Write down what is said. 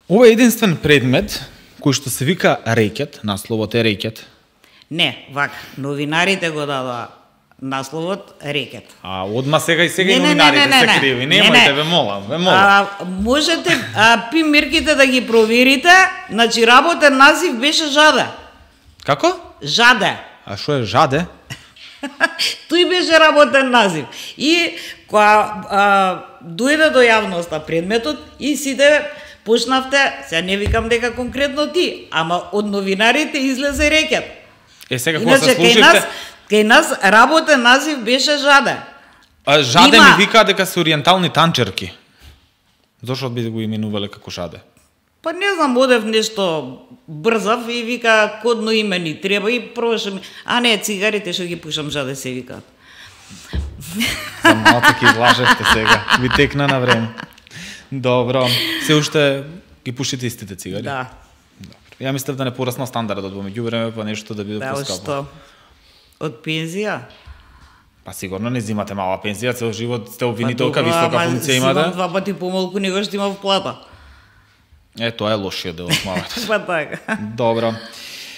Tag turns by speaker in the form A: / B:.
A: Ова е единствен предмет кој што се вика рекет, насловот е рекет.
B: Не, вака, новинарите го дадоа насловот рекет.
A: А одма сега и новинарите се криви. Немојте, ве молам.
B: Можете мерките да ги проверите, значи работен назив беше Жаде.
A: Како?
B: Жаде.
A: А што е Жаде?
B: Тој беше работен назив. И кога дојде до јавноста предметот и сите почнавте, сега не викам дека конкретно ти, ама од новинарите излезе рекет.
A: Сега кога се слушате...
B: Кај нас работен назив беше Жаде.
A: Жаде ми вика дека се ориентални танчерки. Зошто би го именувале како Жаде?
B: Па не знам, одев нешто брзав и вика кодно име ни треба и пробашам. А не, цигарите што ги пушам Жаде се викаат.
A: За малце ки излажевте сега. Ви текна на време. Добро. Се уште ги пушите истите цигари?
B: Да.
A: Добро. Ја мислев да не порасна стандардот во меѓувреме, па нешто да биде поскапо.
B: Да, што? Од пензија?
A: Па сигурно не зимате мала пензија, цел живот сте обвинителка, висока функција имате.
B: Зимам 2 пати помалку него што имав плата.
A: Тоа е лошиот дел од малото.
B: Па така.
A: Добро.